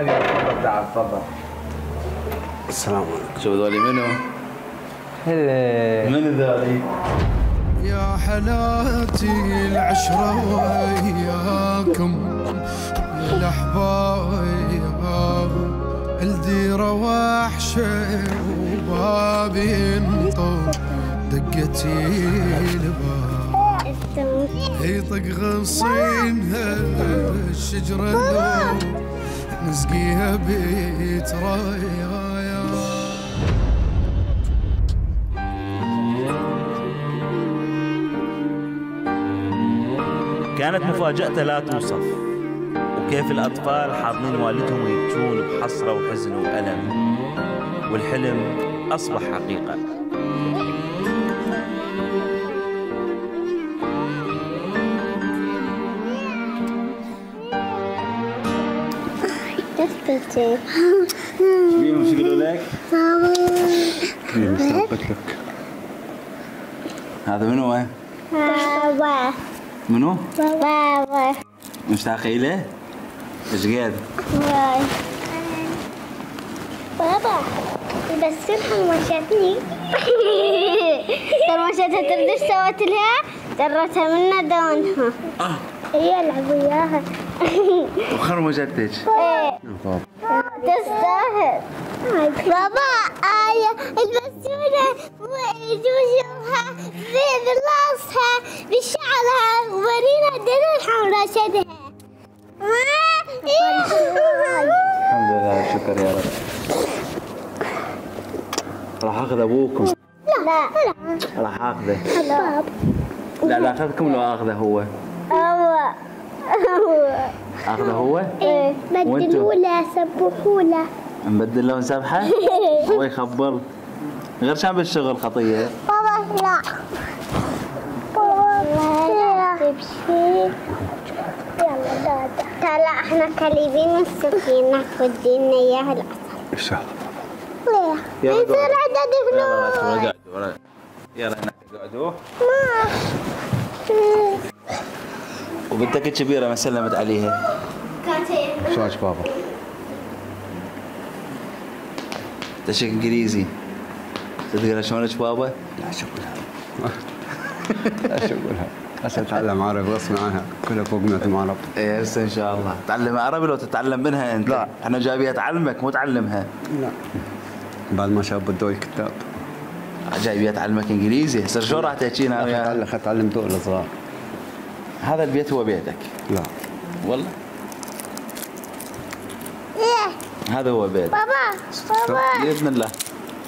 حبيبي تفضل تعال تفضل. السلام عليكم. شوف ذولي منو؟ هلا. من ذولي؟ يا حلاتي العشرة وياكم يا الأحباب، الديرة وحشة وبابي ينطر دقتي الباب، يطق غصينها الشجرة لو نسقيها بيت رايا. كانت مفاجأته لا توصف، وكيف الأطفال حاضنين والدهم ويبكون بحسرة وحزن وألم، والحلم أصبح حقيقة. مين مش يقولوا لك؟ هذا منو وين؟ بابا. منو؟ بابا. مشتاقة إليه؟ ايش قد؟ بابا بس حمشتني. حمشتها ترد ايش سوت لها؟ جرتها منا دونها. هي العب وياها. وخرمجتك؟ ايه تستاهل. بابا البسونة وجوجها براسها بشعرها وورينا دلو حمرا شدها. الحمد لله شكر يا رب. راح اخذ ابوكم. لا راح اخذه. لا لا اخذكم لو اخذه هو. اخذه هو؟ ايه بدلوا له سبحوا له. نبدل له سبحه؟ هو يخبر غير شان بالشغل خطيه. بابا لا بابا تمشي. يلا دادا تعال احنا كليبين السكينة ودينا اياها العسل. ان شاء الله. ليه؟ يصير عدد فلوس. يلا هناك اقعدوا. ما وبنتك الكبيرة ما سلمت عليها. شلونك بابا؟ تشك انجليزي. تدري شلونك بابا؟ لا شو اقولها. لا شو اقولها. هسه اتعلم عربي غصب عنها، كلها فوق 100 عرب. ايه هسه ان شاء الله. تعلم عربي لو تتعلم منها انت. لا. احنا جايبيها تعلمك مو تعلمها. لا. بعد ما شاف بدو الكتاب. جايبيها تعلمك انجليزي، هسه شلون راح تحكينا وياها؟ اتعلم دول صغار. هذا البيت هو بيتك؟ لا. والله؟ ايه هذا هو بيت. بابا بإذن الله.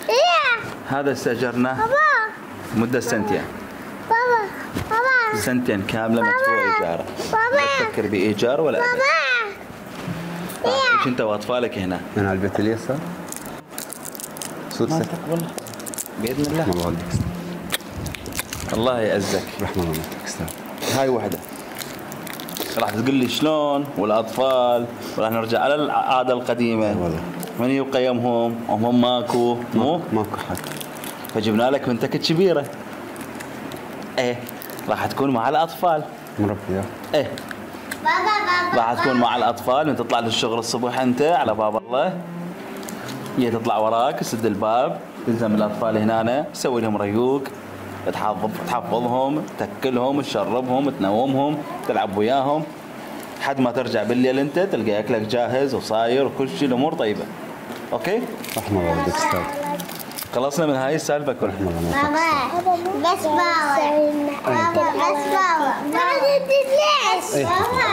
ايه هذا استأجرناه بابا مدة سنتين. بابا سنتين كاملة مدفوع إيجاره. لا تفكر بإيجار ولا أبد. عيش أنت وأطفالك هنا. من على البيت اليسار؟ ما والله بإذن الله. ما بودك. الله يعزك. رحمة الله استاذ. هاي وحدة. راح تقول لي شلون والأطفال وراح نرجع على العادة القديمة. والله. من يبقى يمهم وهم ماكو مو؟ ماكو حد. فجبنا لك بنتك الكبيرة. ايه راح تكون مع الأطفال. مربية. ايه راح تكون مع الأطفال من تطلع للشغل الصبح أنت على باب الله. هي تطلع وراك تسد الباب تلزم الأطفال هنا تسوي لهم ريوق تحفظهم تاكلهم تشربهم تنومهم تلعب وياهم لحد ما ترجع بالليل أنت تلقى أكلك جاهز وصاير وكل شيء الأمور طيبة. أوكي؟ رحمة الله والدك استاذ. خلصنا من هاي السالفة كلها. رحمة الله بابا بس بابا بابا بس بابا ما تدري ليش بابا